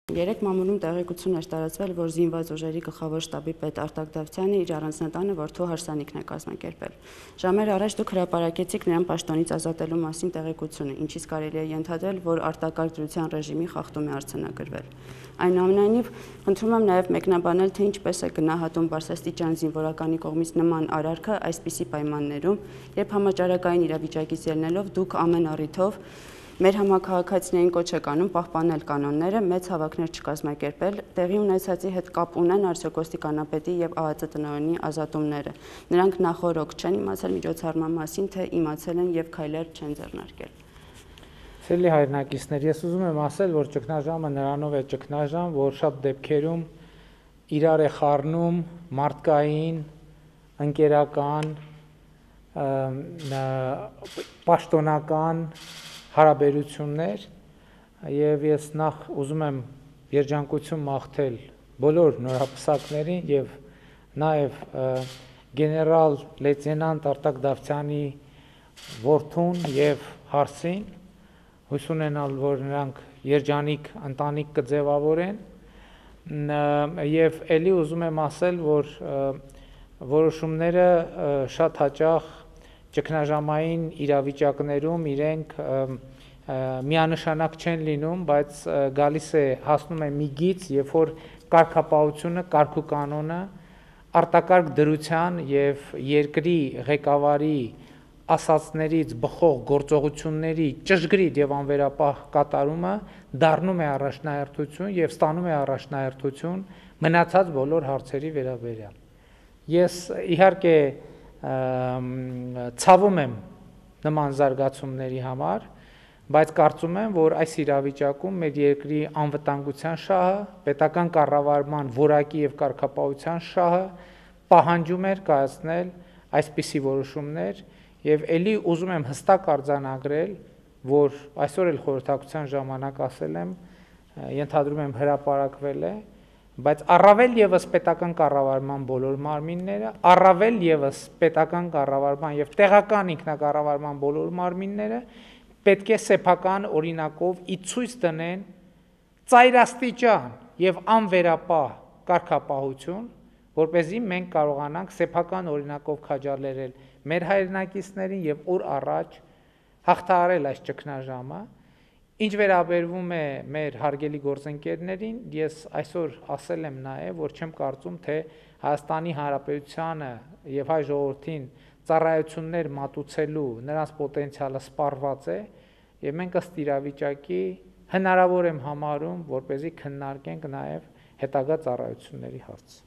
Երեք մամուլում տեղեկություն էր տարածվել, որ զինված ուժերի գլխավոր շտաբի պետ Արտակ Դավթյանը իր առանձնատանը որդու հարսանիքն է կազմակերպել։ Ժամեր առաջ դուք հրապարակեցիք նրան պաշտոնից ազատելու մասին տեղեկությունը, ինչից կարելի է ենթադրել, որ արտակարգ դրության ռեժիմի խախտում է արձանագրվել։ Այնուամենայնիվ, խնդրում եմ նաև մեկնաբանել, թե ինչպես է գնահատում բարձրաստիճան զինվորականի կողմից նման արարքը այսպիսի պայմաններում, երբ համաճարակային իրավիճակից ելնելով դուք ամեն առիթով մեր համաքաղաքացիներին կոչ եք անում պահպանել կանոնները, մեծ հավաքներ չկազմակերպել, տեղի ունեցածի հետ կապ ունեն արդյոք ոստիկանապետի եւ ԱԱԾ տնօրենի ազատումները։ Նրանք նախօրոք չեն իմացել միջոցառման մասին, թե իմացել են եւ քայլեր չեն ձեռնարկել։ Սիրելի հայրենակիցներ, ես ուզում եմ ասել, որ ճգնաժամը նրանով է ճգնաժամ, որ շատ դեպքերում իրար է խառնում մարդկային, ընկերական, պաշտոնական հարաբերություններ եւ ես նախ ուզում եմ երջանկություն մաղթել բոլոր նորապսակներին եւ նաեւ գեներալ լեյտենանտ Արտակ Դավթյանի որդուն եւ հարսին, հույս ունենալ, որ նրանք երջանիկ ընտանիք կձևավորեն եւ ելի ուզում եմ ասել, որ որոշումները շատ հաճախ ճգնաժամային իրավիճակներում իրենք միանշանակ չեն լինում, բայց գալիս է հասնում է մի գիծ, երբ որ կարգապահությունը, կարգուկանոնը արտակարգ դրության եւ երկրի ղեկավարի ասածներից բխող գործողությունների ճշգրիտ եւ անվերապահ կատարումը դառնում է առաջնահերթություն եւ ստանում է առաջնահերթություն մնացած բոլոր հարցերի վերաբերյալ։ Ես իհարկե ցավում եմ նման զարգացումների համար, բայց կարծում եմ, որ այս իրավիճակում մեր երկրի անվտանգության շահը, պետական կառավարման որակի եւ կարգապահության շահը պահանջում էր կայացնել այսպիսի որոշումներ եւ ելի ուզում եմ հստակ արձանագրել, որ այսօր էլ խորհրդակցության ժամանակ ասել եմ, ենթադրում եմ հրապարակվել է, բայց առավել եւս պետական կառավարման բոլոր մարմինները, առավել եւս պետական կառավարման եւ տեղական ինքնակառավարման բոլոր մարմինները պետք է սեփական օրինակով ի ցույց դնեն ծայրաստիճան եւ անվերապահ կարգապահություն, որպեսզի մենք կարողանանք սեփական օրինակով քաջալերել մեր հայրենակիցներին եւ օր առաջ հաղթահարել այս ճգնաժամը։ Ինչ վերաբերվում է մեր հարգելի գործընկերներին, ես այսօր ասել եմ նաեւ, որ չեմ կարծում, թե Հայաստանի Հանրապետությանը եւ հայ ժողովրդին ծառայություններ մատուցելու նրանց պոտենցիալը սպառված է եւ մենք ըստ իրավիճակի հնարավոր եմ համարում, որպեսզի քննարկենք նաեւ հետագա ծառայությունների հարց։